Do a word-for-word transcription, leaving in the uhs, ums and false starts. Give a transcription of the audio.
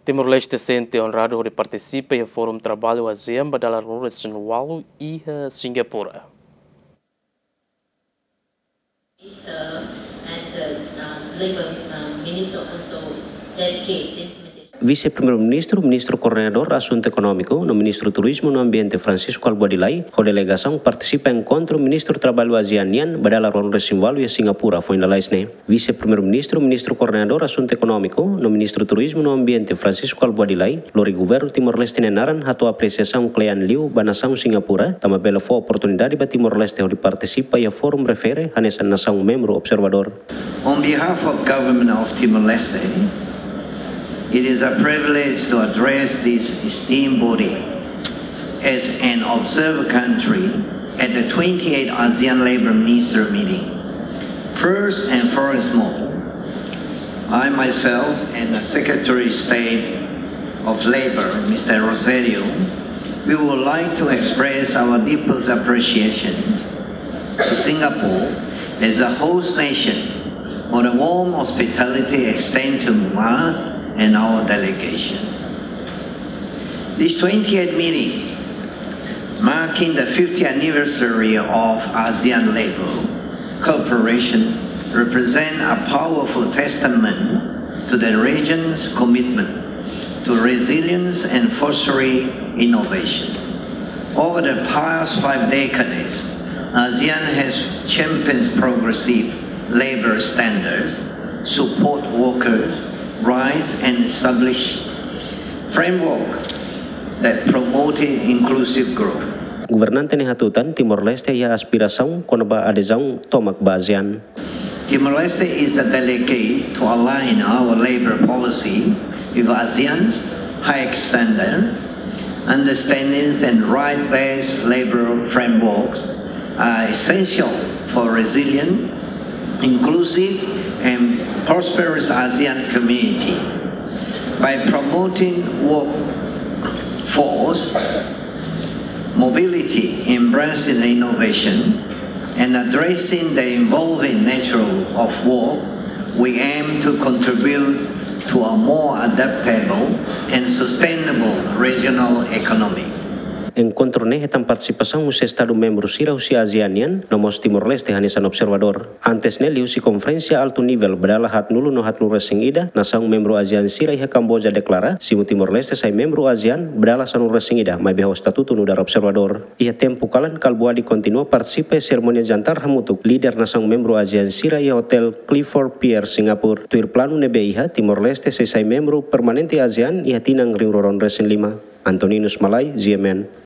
Timor-Leste sente onradu hodi partisipa iha Forum Traballu ASEAN ba dala ruanulu-resin-ualu iha Singapura. Minister and the, uh, Labor, uh, Minister also dedicate implementation. Vise-Primeiru-Ministru, Ministru Koordenadór Asuntu Ekonómiku, no Ministru Turizmu no Ambiente, Francisco Albuady Lay, ho delegasaun partisipa enkontru Ministru Traballu ASEAN nian ba dala ruanulu-resin-ualu iha Singapura, foin lalais ne'e. Vise-Primeiru-Ministru, Ministru Koordenadór Asuntu Ekonómiku, no Ministru Turizmu no Ambiente, Francisco Albuady Lay, lori Governu Timor-Leste nia naran hato'o apresiasaun kle'an liu ba nasaun Singapura, tanba bele fó oportunidade ba Timor-Leste hodi partisipa iha forum refere hanesan nasaun membru observadór. On behalf of Government of Timor-Leste, it is a privilege to address this esteemed body as an observer country at the twenty-eighth ASEAN Labor Minister meeting. First and foremost, I myself and the Secretary of State of Labor, Mister Rosario, we would like to express our deepest appreciation to Singapore as a host nation for the warm hospitality extended to us and our delegation. This twenty-eighth meeting, marking the fiftieth anniversary of ASEAN labor cooperation, represent a powerful testament to the region's commitment to resilience and fostering innovation. Over the past five decades, ASEAN has championed progressive labor standards, support workers' rights, and established framework that promoted inclusive growth. Governante ne'e hatutan Timor-Leste iha aspirasaun kona-ba adezaun tomak ba ASEAN. Timor-Leste is a delegate to align our labor policy with ASEAN's high standard. Understandings and right-based labor frameworks are essential for resilient, inclusive, and prosperous ASEAN community. By promoting workforce mobility, embracing innovation, and addressing the evolving nature of work, we aim to contribute to a more adaptable and sustainable regional economy. Enkontru ne'e hetan partisipasaun husi Estadu membru sira husi ASEAN nian, no mós Timor-Leste hanesan observadór. Antes ne'e, liuhusi konferénsia altu nivel ba dala haatnulu no haatnulu-resin-ida, nasaun membru ASEAN sira iha Kamboja deklara, simu Timor-Leste sai membru ASEAN ba dala sanulu-resin-ida, maibé ho estatutu nu'udar observadór. Iha tempu kalan, Albuady kontinua partisipa iha serimónia jantar hamutuk líder nasaun membru ASEAN sira iha Hotel Clifford Pier, Singapura. Tuir planu ne'ebé iha, Timor-Leste sei sai membru permanente ASEAN iha tinan rihun rua ruanulu-resin-lima. Antoninus Malay, G M N.